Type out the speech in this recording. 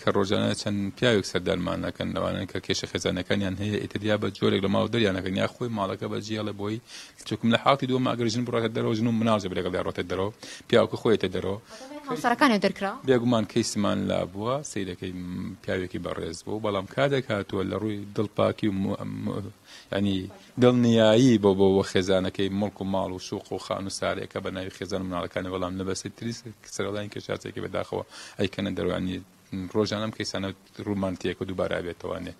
کە ڕۆژانە چەند پیاوێک سەردانمان ئەکەن لەوانەن کە کێشە خێزانەکانیان هەیە ئیتر یا بە جۆرێک لە ماڵ دەریان ئەکەن یا خۆی ماڵەکە بە جێڵێ بۆی چونکم لە حاڵتی دووەم ئەگەر ژن بڕاتە دەرەوە ژن و مناڵ جەبرێک لەگەڵیا ڕۆتە دەرەوە پیاوەکە خۆیەتە دەرەوە هاوسەرەکانی دەرکرا. بێگومان کەیسمان لابووە سەیرەکەی پیاوێکی بەڕێز بوو بەڵام کاتێک هاتووە لە ڕووی دڵپاکی و یانی دڵنیایی بۆ بۆ خێزانەکەی موڵک و ماڵ و شوق و خان و سارێکە بە ناوی خێزان و مناڵەکانی بەڵام لە بەسیتری سەرەڵایین کەشاسێکی بەداخەوە ئەیکەنە دەرەوە یانی ڕۆژانە ئەم کەیسانە ڕوومان تێکە دووبارە ئەبێتەوە نێ.